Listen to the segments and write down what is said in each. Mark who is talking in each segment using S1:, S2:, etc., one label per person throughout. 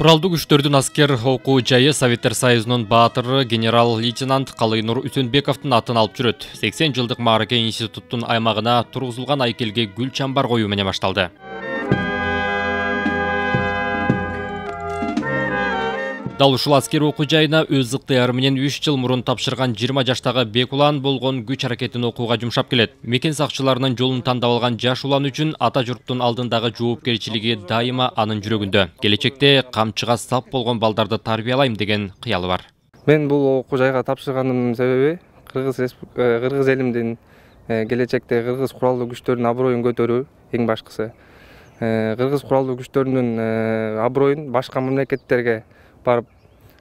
S1: Куралдуу күчтөрдүн аскер окуу жайы Советтер Союзунун баатыры генерал-лейтенант Калыйнур Үсөнбековдун атын алып жүрөт. 80 жылдык Маараке институттун аймагына тургузулган айкелге гүл чамбар коюу менен башталды. Дал ушул аскер окуу жайына өз ыктыяры менен 3 жыл мурун тапшырган 20 жаштагы Бекулан болгон күч аракетин окууга жумшап келет. Мекен сакчыларынын жолун тандап алган жаш улан үчүн ата журттун алдындагы жоопкерчилиги дайыма анын жүрөгүндө. Келечекте камчыга сап болгон балдарды тарбиялайм деген кыялы бар.
S2: Мен бул окуу жайга тапшырганымдын себеби кыргыз элимдин келечекте кыргыз куралдуу күчтөрүнүн аброюн көтөрүү эң башкысы. Кыргыз куралдуу күчтөрүнүн аброюн башка мамлекеттерге барып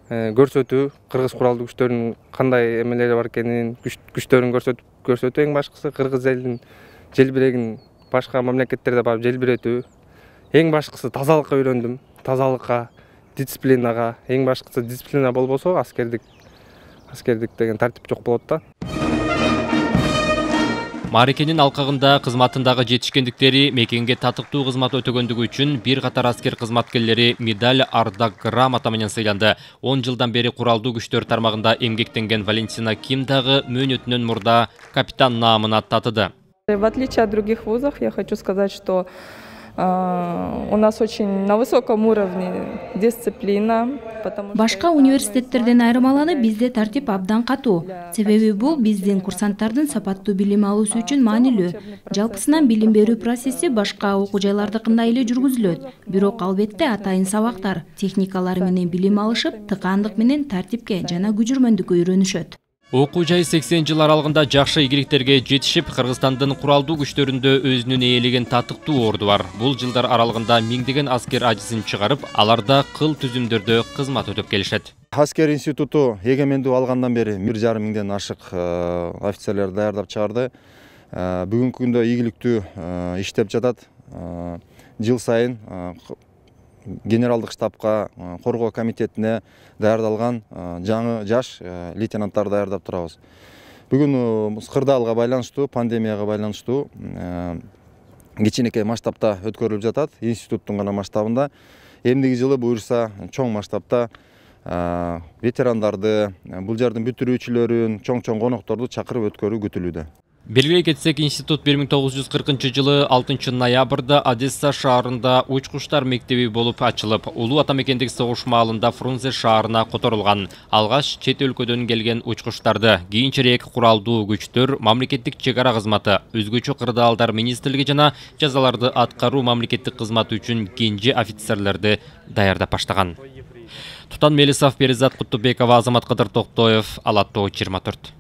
S2: көрсөтүү, кыргыз куралдуу күчтөрүнүн кандай эмелери бар экенин, күчтөрүн көрсөтүү эң башкысы, кыргыз элинин желбирегин башка мамлекеттерде барып желбиретүү. Эң башкысы тазалыкка үйрөндүм. Тазалыкка, дисциплинага, эң башкысы дисциплина болбосо аскердик деген тартип жок болот да.
S1: Мааракенин алкагында кызматындагы жетишкендиктери, мекенге татыктуу кызмат өтөгөндүгү үчүн бир катар аскер кызматкерлери медаль, ардак грамота менен сыйланды. 10 жылдан бери куралдуу күчтөр тармагында эмгектенген Валентина Ким дагы мөөнөтүнөн мурда капитан наамына татыды.
S3: В отличие от других вузов, я хочу сказать, что у нас очень на высоком уровне дисциплина.
S4: Башка университеттерден айырмаланып, бизде тартип абдан катуу. Себеби бул биздин курсанттардын сапаттуу билим алуусу үчүн маанилүү. Жалпысынан билим берүү процесси башка окуу жайлардыкындай эле жүргүзүлөт. Бирок албетте атайын сабактар, техникалар менен билим алышып, тыкаандык менен тартипке жана күжүрмөндүккө үйрөнүшөт.
S1: Окуу жай 80 жыл аралыгында жакшы ийгиликтерге жетишип, Кыргызстандын куралдуу күчтөрүндө өзүнүн ээлеген татыктуу орду бар. Бул жылдар аралыгында миңдеген аскер ажысын чыгарып, аларда кыл түзүмдөрдө кызмат өтөп келишет.
S5: Аскер институту эгемендүү алгандан бери 1,5 миңден ашык офицерлерди даярдап чыгарды. Бүгүнкү күндө ийгиликтүү иштеп жатат. Жыл сайын генералдык штабка, коргоо комитетине даярдалган жаңы жаш лейтенанттарды даярдап турабыз. Бүгүн кырдаалга байланыштуу, пандемияга байланыштуу кичинекей масштабта өткөрүлүп жатат, институттун гана масштабында. Эмдиги жылы буюрса чоң масштабта ветерандарды, бул жердин бүтүрүүчүлөрүн, чоң конокторду чакырып өткөрүү күтүлүүдө.
S1: Белгилей кетсек, институт 1940 6 ноябрда Одесса шаарында учкучтар мектеби болуп ачылып, улуу атамекендик согуш маалында Фрунзе шаарына которулган. Алгаш чет өлкөдөн келген учкучтарды кийинчерээк куралдуу күчтөр, мамлекеттик чек ара кызматы, өзгөчө кырдаалдар министрлиги жана жазаларды аткаруу мамлекеттик кызматы үчүн кенже офицерлерди даярдап баштаган. Тутан Мелисов, Перизат Куттубекова, Азамат Кадыр Токтоев, Ала Тоо 24.